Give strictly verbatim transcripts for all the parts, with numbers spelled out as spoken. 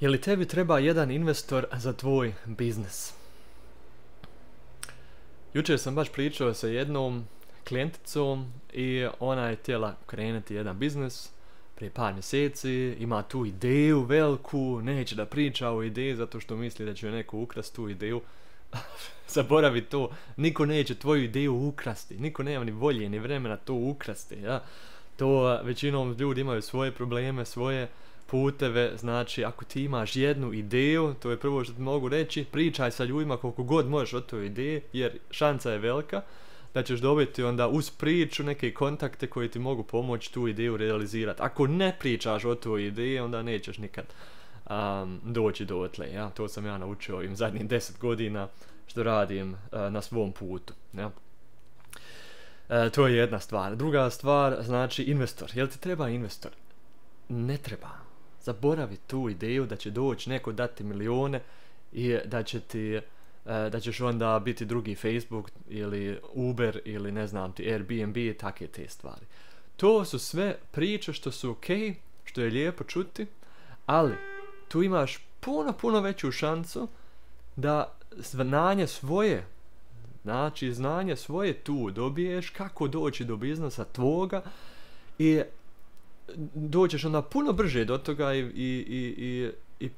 Je li tebi treba jedan investor za tvoj biznis? Jučer sam baš pričao sa jednom klijenticom i ona je htjela krenuti jedan biznis prije par mjeseci, ima tu ideju veliku, neće da priča o ideji zato što misli da će joj neko ukrasti tu ideju. Zaboravi to, niko neće tvoju ideju ukrasti, niko nema ni volje ni vremena to ukrasti, ja. To većinom ljudi imaju svoje probleme, svoje puteve, znači ako ti imaš jednu ideju, to je prvo što ti mogu reći, pričaj sa ljudima koliko god možeš o toj ideji, jer šansa je velika da ćeš dobiti onda uz priču neke kontakte koji ti mogu pomoći tu ideju realizirati. Ako ne pričaš o toj ideji, onda nećeš nikad um, doći do otle, ja. To sam ja naučio ovim zadnjih deset godina što radim uh, na svom putu, ja. E, to je jedna stvar. Druga stvar, znači investor. Jel ti treba investor? Ne treba. Zaboravi tu ideju da će doći neko dati milione i da će ti, e, da ćeš onda biti drugi Facebook ili Uber ili ne znam ti Airbnb i takve te stvari. To su sve priče što su ok, što je lijepo čuti, ali tu imaš puno, puno veću šansu da znanje svoje, znači znanje svoje tu dobiješ kako doći do biznisa tvoga i doćeš onda puno brže do toga i, i, i, i, i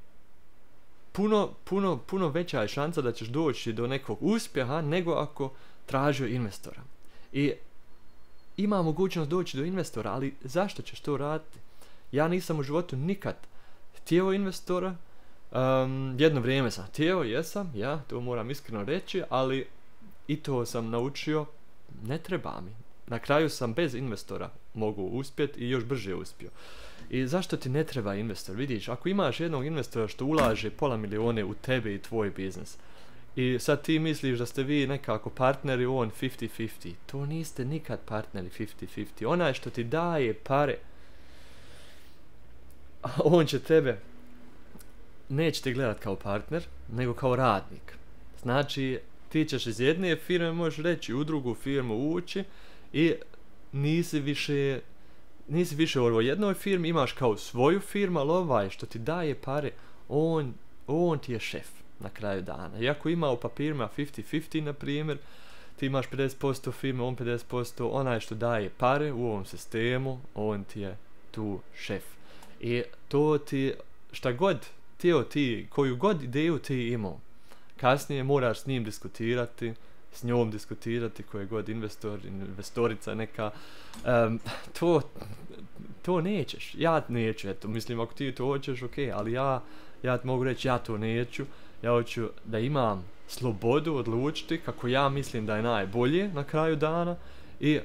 puno, puno, puno veća je šansa da ćeš doći do nekog uspjeha nego ako tražio investora. I ima mogućnost doći do investora, ali zašto ćeš to raditi? Ja nisam u životu nikad htio investora. Um, jedno vrijeme sam htio, jesam, ja, to moram iskreno reći, ali i to sam naučio, ne treba mi. Na kraju sam bez investora mogu uspjeti i još brže uspio. I zašto ti ne treba investor? Vidiš, ako imaš jednog investora što ulaže pola milione u tebe i tvoj biznis i sad ti misliš da ste vi nekako partneri, on fifty fifty, to niste nikad partneri fifty fifty. Onaj što ti daje pare, on će tebe, neće te gledat kao partner, nego kao radnik. Znači, ti ćeš iz jedne firme, možeš reći, u drugu firmu ući i nisi više, nisi više u ovoj jednoj firmi, imaš kao svoju firmu, ali ovaj što ti daje pare, on, on ti je šef na kraju dana. Iako ima u papirima fifty fifty, na primjer, ti imaš pedeset posto firme, on pedeset posto, onaj što daje pare u ovom sistemu, on ti je tu šef. I to ti, šta god, tijelo ti, koju god ideju ti imao, kasnije moraš s njim diskutirati, s njom diskutirati, koji je god investor, investorica neka, um, to, to nećeš, ja neću, eto, mislim, ako ti to hoćeš, ok, ali ja, ja ti mogu reći, ja to neću, ja hoću da imam slobodu odlučiti kako ja mislim da je najbolje na kraju dana i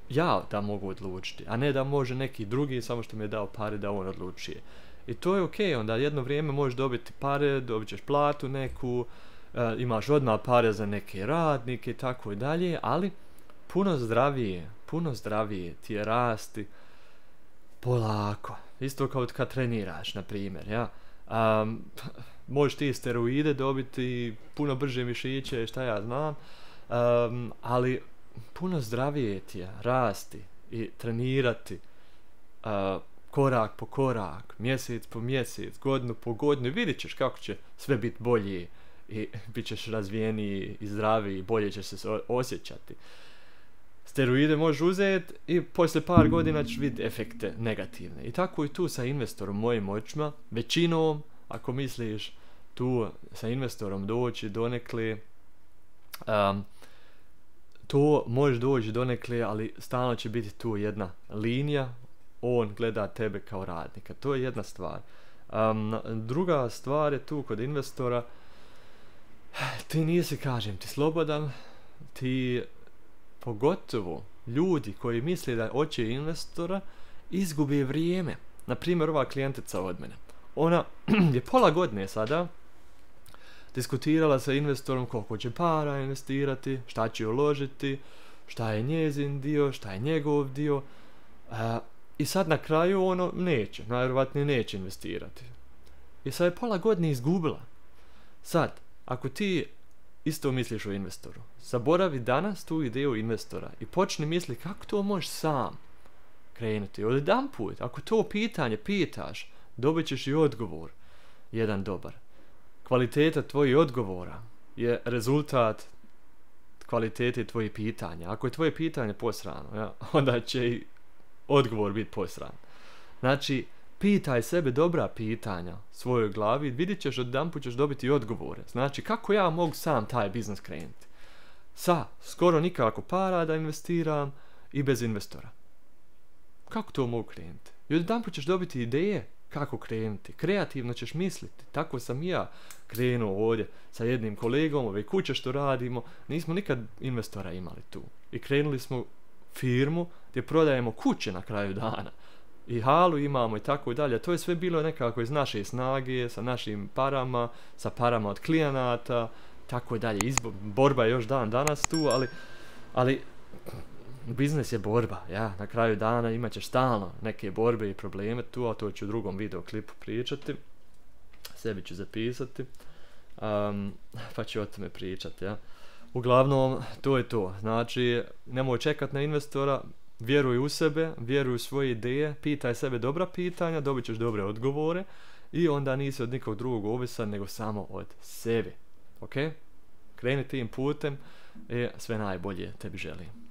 ja da mogu odlučiti, a ne da može neki drugi, samo što mi je dao pare da on odlučuje. I to je ok, onda jedno vrijeme možeš dobiti pare, dobit ćeš platu neku, uh, imaš odmah pare za neke radnike i tako i dalje, ali puno zdravije, puno zdravije ti je rasti polako. Isto kao kad treniraš, na primjer, ja. Um, možeš ti steroide dobiti, puno brže mišiće, šta ja znam, um, ali puno zdravije ti je rasti i trenirati uh, korak po korak, mjesec po mjesec, godinu po godinu i vidit ćeš kako će sve biti bolje i bit ćeš razvijeniji i zdraviji i bolje ćeš se osjećati. Steroide možeš uzeti i poslije par godina ćeš vidjeti efekte negativne. I tako i tu sa investorom, mojim očima, većinom, ako misliš tu sa investorom doći donekle, um, to možeš doći donekle, ali stalno će biti tu jedna linija, on gleda tebe kao radnika. To je jedna stvar. Um, druga stvar je tu kod investora, ti nisi, kažem ti, slobodan, ti pogotovo ljudi koji misle da hoće investora izgubi vrijeme. Naprimjer, ova klijentica od mene. Ona je pola godine sada diskutirala sa investorom koliko će para investirati, šta će uložiti, šta je njezin dio, šta je njegov dio. Uh, I sad na kraju ono neće, najvjerojatnije neće investirati. I sad je pola godine izgubila. Sad, ako ti isto misliš o investoru, zaboravi danas tu ideju investora i počni misli kako to možeš sam krenuti. Od jedan put, ako to pitanje pitaš, dobit ćeš i odgovor. jedan dobar. Kvaliteta tvojih odgovora je rezultat kvalitete tvojih pitanja. Ako je tvoje pitanje posrano, ja, onda će i odgovor biti posran. Znači, pitaj sebe dobra pitanja svojoj glavi, vidit ćeš odjedanput ćeš dobiti odgovore. Znači, kako ja mogu sam taj biznis krenuti? Sa skoro nikako para da investiram i bez investora. Kako to mogu krenuti? I odjedanput ćeš dobiti ideje kako krenuti. Kreativno ćeš misliti. Tako sam i ja krenuo ovdje sa jednim kolegom, ove kuće što radimo, nismo nikad investora imali tu. I krenuli smo firmu gdje prodajemo kuće na kraju dana. I halu imamo i tako i dalje. To je sve bilo nekako iz naše snage, sa našim parama, sa parama od klijenata, tako i dalje. Izbo- borba je još dan danas tu, ali, ali biznis je borba, ja. Na kraju dana imat ćeš stalno neke borbe i probleme tu, a to ću u drugom videoklipu pričati. Sebi ću zapisati, um, pa ću o tome pričati, ja. Uglavnom, to je to. Znači, nemoj čekat na investora, vjeruj u sebe, vjeruj u svoje ideje, pitaj sebe dobra pitanja, dobit ćeš dobre odgovore i onda nisi od nikog drugog ovisan, nego samo od sebe. Ok? Kreni tim putem i sve najbolje tebi želim.